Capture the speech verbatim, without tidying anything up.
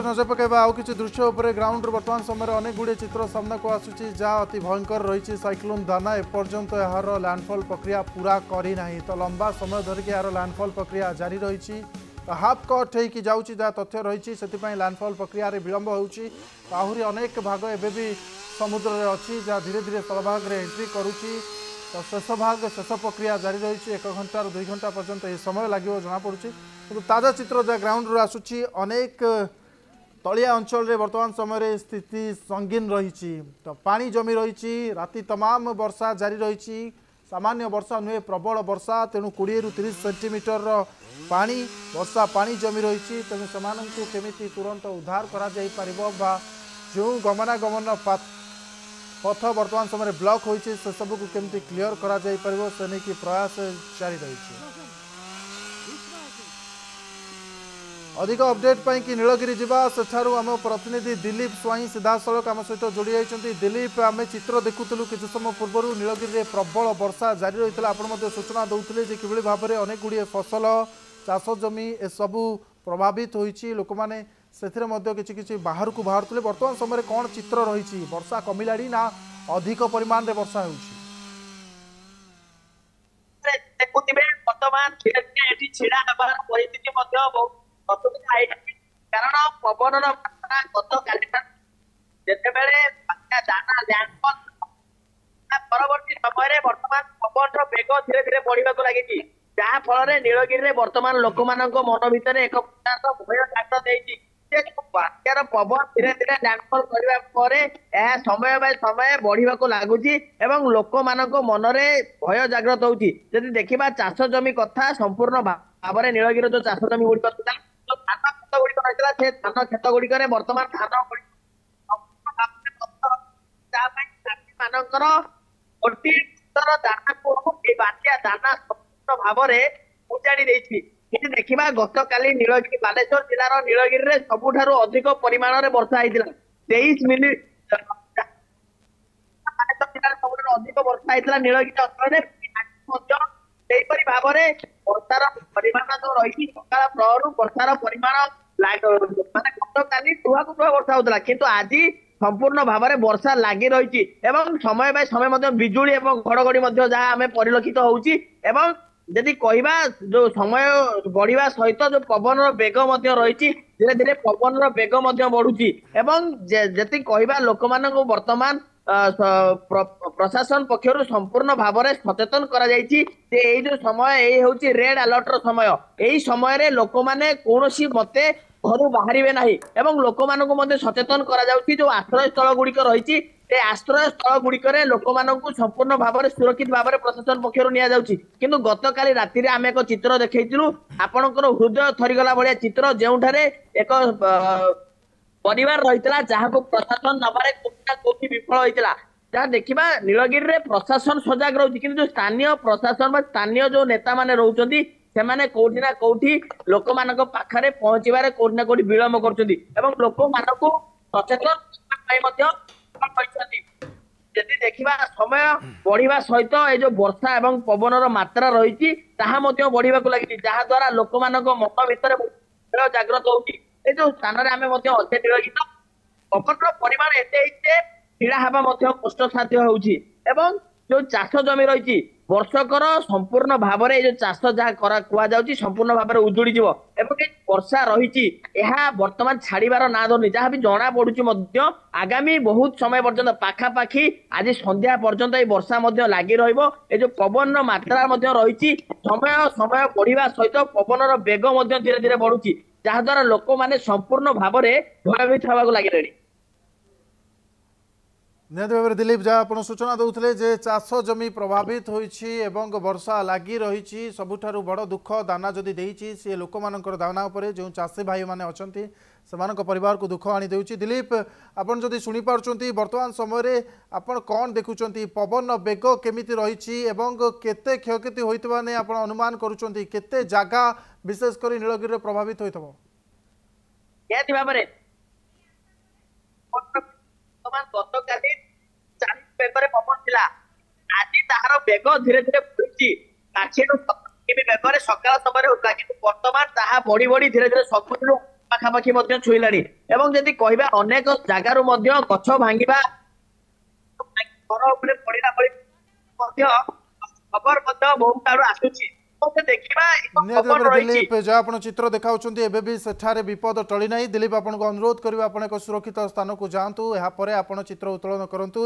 ନଜର ପକାଇବା ଆଉ କିଛି ଦୃଶ୍ୟ ଉପରେ। ଗ୍ରାଉଣ୍ଡରୁ ବର୍ତ୍ତମାନ ସମୟରେ ଅନେକ ଗୁଡ଼ିଏ ଚିତ୍ର ସାମ୍ନାକୁ ଆସୁଛି, ଯାହା ଅତି ଭୟଙ୍କର ରହିଛି। ସାଇକ୍ଲୋନ୍ ଦାନା ଏପର୍ଯ୍ୟନ୍ତ ଏହାର ଲ୍ୟାଣ୍ଡଫଲ୍ ପ୍ରକ୍ରିୟା ପୁରା କରିନାହିଁ। ତ ଲମ୍ବା ସମୟ ଧରିକି ଏହାର ଲ୍ୟାଣ୍ଡଫଲ୍ ପ୍ରକ୍ରିୟା ଜାରି ରହିଛି। ତ ହାଫ୍ କଟ୍ ହେଇକି ଯାଉଛି, ଯାହା ତଥ୍ୟ ରହିଛି, ସେଥିପାଇଁ ଲ୍ୟାଣ୍ଡଫଲ୍ ପ୍ରକ୍ରିୟାରେ ବିଳମ୍ବ ହେଉଛି। ଆହୁରି ଅନେକ ଭାଗ ଏବେ ବି ସମୁଦ୍ରରେ ଅଛି, ଯାହା ଧୀରେ ଧୀରେ ସ୍ଥଳଭାଗରେ ଏଣ୍ଟ୍ରି କରୁଛି। ତ ଶେଷ ଭାଗ, ଶେଷ ପ୍ରକ୍ରିୟା ଜାରି ରହିଛି। ଏକ ଘଣ୍ଟାରୁ ଦୁଇ ଘଣ୍ଟା ପର୍ଯ୍ୟନ୍ତ ଏହି ସମୟ ଲାଗିବ ଜଣାପଡ଼ୁଛି। କିନ୍ତୁ ତାଜା ଚିତ୍ର ଯାହା ଗ୍ରାଉଣ୍ଡରୁ ଆସୁଛି, ଅନେକ ତଳିଆ ଅଞ୍ଚଳରେ ବର୍ତ୍ତମାନ ସମୟରେ ସ୍ଥିତି ସଙ୍ଗୀନ ରହିଛି। ତ ପାଣି ଜମି ରହିଛି। ରାତି ତମାମ ବର୍ଷା ଜାରି ରହିଛି। ସାମାନ୍ୟ ବର୍ଷା ନୁହେଁ, ପ୍ରବଳ ବର୍ଷା। ତେଣୁ କୋଡ଼ିଏରୁ ତିରିଶ ସେଣ୍ଟିମିଟରର ପାଣି, ବର୍ଷା ପାଣି ଜମି ରହିଛି। ତେଣୁ ସେମାନଙ୍କୁ କେମିତି ତୁରନ୍ତ ଉଦ୍ଧାର କରାଯାଇପାରିବ ବା ଯେଉଁ ଗମନାଗମନ ପଥ ବର୍ତ୍ତମାନ ସମୟରେ ବ୍ଲକ୍ ହୋଇଛି, ସେସବୁକୁ କେମିତି କ୍ଲିଅର କରାଯାଇପାରିବ, ସେ ନେଇକି ପ୍ରୟାସ ଜାରି ରହିଛି। ଅଧିକ ଅପଡେଟ୍ ପାଇଁ କି ନୀଳଗିରି ଯିବା। ସେଠାରୁ ଆମ ପ୍ରତିନିଧି ଦିଲ୍ଲୀପ ସ୍ୱାଇଁ ସିଧାସଳଖ ଆମ ସହିତ ଯୋଡ଼ି ଯାଇଛନ୍ତି। ଦିଲ୍ଲୀପ, ଆମେ ଚିତ୍ର ଦେଖୁଥିଲୁ କିଛି ସମୟ ପୂର୍ବରୁ, ନୀଳଗିରିରେ ପ୍ରବଳ ବର୍ଷା ଜାରି ରହିଥିଲା। ଆପଣ ମଧ୍ୟ ସୂଚନା ଦେଉଥିଲେ ଯେ କିଭଳି ଭାବରେ ଅନେକ ଗୁଡ଼ିଏ ଫସଲ, ଚାଷ ଜମି ଏସବୁ ପ୍ରଭାବିତ ହୋଇଛି। ଲୋକମାନେ ସେଥିରେ ମଧ୍ୟ କିଛି କିଛି ବାହାରକୁ ବାହାରୁଥିଲେ। ବର୍ତ୍ତମାନ ସମୟରେ କ'ଣ ଚିତ୍ର ରହିଛି? ବର୍ଷା କମିଲାଣି ନା ଅଧିକ ପରିମାଣରେ ବର୍ଷା ହେଉଛି? ଦେଖୁଥିବେ, ବର୍ତ୍ତମାନ ଧୀରେ ଧୀରେ ଏଠି ଛିଡା ହେବାର ପରିସ୍ଥିତି ମଧ୍ୟ ବହୁତ ଅସୁବିଧା ହେଇଛି, କାରଣ ପବନର ମାତ୍ରା ଗତକାଲି ଯେତେବେଳେ ବାତ୍ୟା ଦାନା ଲ୍ୟାଣ୍ଡଫଲ୍ ପରବର୍ତ୍ତୀ ସମୟରେ ବର୍ତ୍ତମାନ ପବନର ବେଗ ଧୀରେ ଧୀରେ ବଢିବାକୁ ଲାଗିଛି, ଯାହା ଫଳରେ ନୀଳଗିରିରେ ବର୍ତ୍ତମାନ ଲୋକମାନଙ୍କ ମନ ଭିତରେ ଏକ ପ୍ରକାରର ଭୟ ଜାଗ୍ରତ ହେଇଛି ଯେ ବାତ୍ୟାର ପବନ ଧୀରେ ଧୀରେ ଲ୍ୟାଣ୍ଡଫଲ୍ କରିବା ପରେ ଏହା ସମୟ ବାଇ ସମୟ ବଢିବାକୁ ଲାଗୁଛି ଏବଂ ଲୋକମାନଙ୍କ ମନରେ ଭୟ ଜାଗ୍ରତ ହଉଛି। ଯଦି ଦେଖିବା ଚାଷ ଜମି କଥା, ସମ୍ପୂର୍ଣ୍ଣ ଭାବରେ ନୀଳଗିରିର ଯୋଉ ଚାଷ ଜମି ଗୁଡିକ ଥିଲା, ଯୋଉ ଧାନ କ୍ଷେତ ଗୁଡିକ ରହିଥିଲା, ସେ ଧାନ କ୍ଷେତ ଗୁଡିକରେ ବର୍ତ୍ତମାନ ଧାନ ତା ପାଇଁ ଚାଷୀ ମାନଙ୍କର ଗୋଟିଏ ଦାନାକୁ ଏଇ ବାତ୍ୟା ଦାନା ସମ୍ପୂର୍ଣ୍ଣ ଭାବରେ ଉଜାଡି ଦେଇଛି। ଯଦି ଦେଖିବା, ଗତକାଲି ନୀଳଗିରି, ବାଲେଶ୍ୱର ଜିଲ୍ଲାର ନୀଳଗିରିରେ ସବୁଠାରୁ ଅଧିକ ପରିମାଣରେ ବର୍ଷା ହେଇଥିଲା। ତେଇଶ ମିଲି ବାଲେଶ୍ୱର ଜିଲ୍ଲାରେ ସବୁଠାରୁ ଅଧିକ ବର୍ଷା ହେଇଥିଲା ନୀଳଗିରି ଅଞ୍ଚଳରେ। ମଧ୍ୟ ସେହିପରି ଭାବରେ ବର୍ଷାର ପରିମାଣ ଯୋଉ ରହିଛି, ସକାଳ ପ୍ରହରୁ ବର୍ଷାର ପରିମାଣ ମାନେ ଗତକାଲି ଟୁହାକୁ ଟୁହା ବର୍ଷା ହଉଥିଲା, କିନ୍ତୁ ଆଜି ସମ୍ପୂର୍ଣ୍ଣ ଭାବରେ ବର୍ଷା ଲାଗି ରହିଛି ଏବଂ ସମୟ ବାଇ ସମୟ ମଧ୍ୟ ବିଜୁଳି ଏବଂ ଘଡଘଡି ମଧ୍ୟ ଯାହା ଆମେ ପରିଲକ୍ଷିତ ହଉଛି। ଏବଂ ଯଦି କହିବା, ଯୋଉ ସମୟ ବଢିବା ସହିତ ଯୋଉ ପବନର ବେଗ ମଧ୍ୟ ରହିଛି, ଧୀରେ ଧୀରେ ପବନର ବେଗ ମଧ୍ୟ ବଢୁଛି। ଏବଂ ଯେତିକି କହିବା, ଲୋକମାନଙ୍କୁ ବର୍ତ୍ତମାନ ପ୍ରଶାସନ ପକ୍ଷରୁ ସମ୍ପୂର୍ଣ୍ଣ ଭାବରେ ସଚେତନ କରାଯାଇଛି ଯେ ଏଇ ଯୋଉ ସମୟ, ଏଇ ହଉଛି ରେଡ ଆଲର୍ଟ ର ସମୟ। ଏଇ ସମୟରେ ଲୋକମାନେ କୌଣସି ମତେ ଘରୁ ବାହାରିବେ ନାହିଁ ଏବଂ ଲୋକମାନଙ୍କୁ ମଧ୍ୟ ସଚେତନ କରାଯାଉଛି, ଯୋଉ ଆଶ୍ରୟ ସ୍ଥଳ ଗୁଡିକ ରହିଛି, ସେ ଆଶ୍ରୟ ସ୍ଥଳ ଗୁଡିକରେ ଲୋକମାନଙ୍କୁ ସମ୍ପୂର୍ଣ୍ଣ ଭାବରେ ସୁରକ୍ଷିତ ଭାବରେ ପ୍ରଶାସନ ପକ୍ଷରୁ ନିଆଯାଉଛି। କିନ୍ତୁ ଗତକାଲି ରାତିରେ ଆମେ ଏକ ଚିତ୍ର ଦେଖେଇଥିଲୁ, ଆପଣଙ୍କର ହୃଦୟ ଥରିଗଲା ଭଳିଆ ଚିତ୍ର, ଯେଉଁଠାରେ ଏକ ପରିବାର ରହିଥିଲା ଯାହାକୁ ପ୍ରଶାସନ ନବାରେ କୋଉଠି ନା କୋଉଠି ବିଫଳ ହୋଇଥିଲା। ଯାହା ଦେଖିବା, ନୀଳଗିରିରେ ପ୍ରଶାସନ ସଜାଗ ରହୁଛି, କିନ୍ତୁ ଯୋଉ ସ୍ଥାନୀୟ ପ୍ରଶାସନ ବା ସ୍ଥାନୀୟ ଯୋଉ ନେତା ମାନେ ରହୁଛନ୍ତି, ସେମାନେ କୋଉଠି ନା କୋଉଠି ଲୋକମାନଙ୍କ ପାଖରେ ପହଞ୍ଚିବାରେ କୋଉଠି ନା କୋଉଠି ବିଳମ୍ବ କରୁଛନ୍ତି ଏବଂ ଲୋକମାନଙ୍କୁ ସଚେତନ ପାଇଁ ମଧ୍ୟ କହିଛନ୍ତି। ଯଦି ଦେଖିବା, ସମୟ ବଢିବା ସହିତ ଏ ଯୋଉ ବର୍ଷା ଏବଂ ପବନର ମାତ୍ରା ରହିଛି, ତାହା ମଧ୍ୟ ବଢିବାକୁ ଲାଗିଛି, ଯାହା ଦ୍ଵାରା ଲୋକମାନଙ୍କ ମନ ଭିତରେ ଜାଗ୍ରତ ହଉଛି। ଏ ଯୋଉ ସ୍ଥାନରେ ଆମେ ମଧ୍ୟ ଅଛେ ନୀଳଗିରି, ପବନର ପରିମାଣ ଏତେ ହେଇଛି ଯେ ଛିଡା ହେବା ମଧ୍ୟ କଷ୍ଟସାଧ୍ୟ ହେଉଛି। ଏବଂ ଯୋଉ ଚାଷ ଜମି ରହିଛି, ବର୍ଷକର ସମ୍ପୂର୍ଣ୍ଣ ଭାବରେ ଏଇ ଯୋଉ ଚାଷ ଯାହା କରା କୁହାଯାଉଛି, ସମ୍ପୂର୍ଣ୍ଣ ଭାବରେ ଉଜୁଡିଯିବ। ଏବଂ ଏ ବର୍ଷା ରହିଛି, ଏହା ବର୍ତ୍ତମାନ ଛାଡିବାର ନାଁ ଧରୁନି। ଯାହା ବି ଜଣା ପଡୁଛି ମଧ୍ୟ, ଆଗାମୀ ବହୁତ ସମୟ ପର୍ଯ୍ୟନ୍ତ, ପାଖାପାଖି ଆଜି ସନ୍ଧ୍ୟା ପର୍ଯ୍ୟନ୍ତ ଏଇ ବର୍ଷା ମଧ୍ୟ ଲାଗି ରହିବ। ଏ ଯୋଉ ପବନର ମାତ୍ରା ମଧ୍ୟ ରହିଛି, ସମୟ ସମୟ ବଢିବା ସହିତ ପବନର ବେଗ ମଧ୍ୟ ଧୀରେ ଧୀରେ ବଢୁଛି, ଯାହା ଦ୍ଵାରା ଲୋକମାନେ ସମ୍ପୂର୍ଣ୍ଣ ଭାବରେ ଭୟଭୀତ ହେବାକୁ ଲାଗିଲେଣି। ନିହାତି ଭାବରେ ଦିଲ୍ଲୀପ, ଯାହା ଆପଣ ସୂଚନା ଦେଉଥିଲେ ଯେ ଚାଷ ଜମି ପ୍ରଭାବିତ ହୋଇଛି ଏବଂ ବର୍ଷା ଲାଗି ରହିଛି। ସବୁଠାରୁ ବଡ଼ ଦୁଃଖ, ଦାନା ଯଦି ଦେଇଛି ସିଏ ଲୋକମାନଙ୍କର ଦାନା ଉପରେ, ଯେଉଁ ଚାଷୀ ଭାଇମାନେ ଅଛନ୍ତି ସେମାନଙ୍କ ପରିବାରକୁ ଦୁଃଖ ଆଣି ଦେଉଛି। ଦିଲ୍ଲୀପ, ଆପଣ ଯଦି ଶୁଣିପାରୁଛନ୍ତି, ବର୍ତ୍ତମାନ ସମୟରେ ଆପଣ କ'ଣ ଦେଖୁଛନ୍ତି? ପବନର ବେଗ କେମିତି ରହିଛି ଏବଂ କେତେ କ୍ଷୟକ୍ଷତି ହୋଇଥିବା ନେଇ ଆପଣ ଅନୁମାନ କରୁଛନ୍ତି? କେତେ ଜାଗା ବିଶେଷ କରି ନୀଳଗିରିରେ ପ୍ରଭାବିତ ହୋଇଥିବ? ନିହାତି ଭାବରେ ବର୍ତ୍ତମାନ ଗତକାଲି ଚାଳିଶ ବେଗରେ ପବନ ଥିଲା, ଆଜି ତାହାର ବେଗ ଧୀରେ ଧୀରେ ବଢୁଛି। ଷାଠିଏରୁ ସତୁରି ବେଗରେ ସକାଳ ସମୟରେ ହଉଥିଲା, କିନ୍ତୁ ବର୍ତ୍ତମାନ ତାହା ବଢି ବଢି ଧୀରେ ଧୀରେ ସତୁରିରୁ ପାଖାପାଖି ମଧ୍ୟ ଛୁଇଁଲାଣି। ଏବଂ ଯଦି କହିବା, ଅନେକ ଜାଗାରୁ ମଧ୍ୟ ଗଛ ଭାଙ୍ଗିବା, ଘର ଉପରେ ପଡିଲା ଭଳି ମଧ୍ୟ ଖବର ମଧ୍ୟ ବହୁତ ଆଡୁ ଆସୁଛି। ଦେଖିବା। ନିହାତି ଭାବରେ ଦିଲ୍ଲୀପ, ଯାହା ଆପଣ ଚିତ୍ର ଦେଖାଉଛନ୍ତି, ଏବେ ବି ସେଠାରେ ବିପଦ ଟଳି ନାହିଁ। ଦିଲ୍ଲୀପ, ଆପଣଙ୍କୁ ଅନୁରୋଧ କରିବେ, ଆପଣ ଏକ ସୁରକ୍ଷିତ ସ୍ଥାନକୁ ଯାଆନ୍ତୁ, ଏହାପରେ ଆପଣ ଚିତ୍ର ଉତ୍ତୋଳନ କରନ୍ତୁ।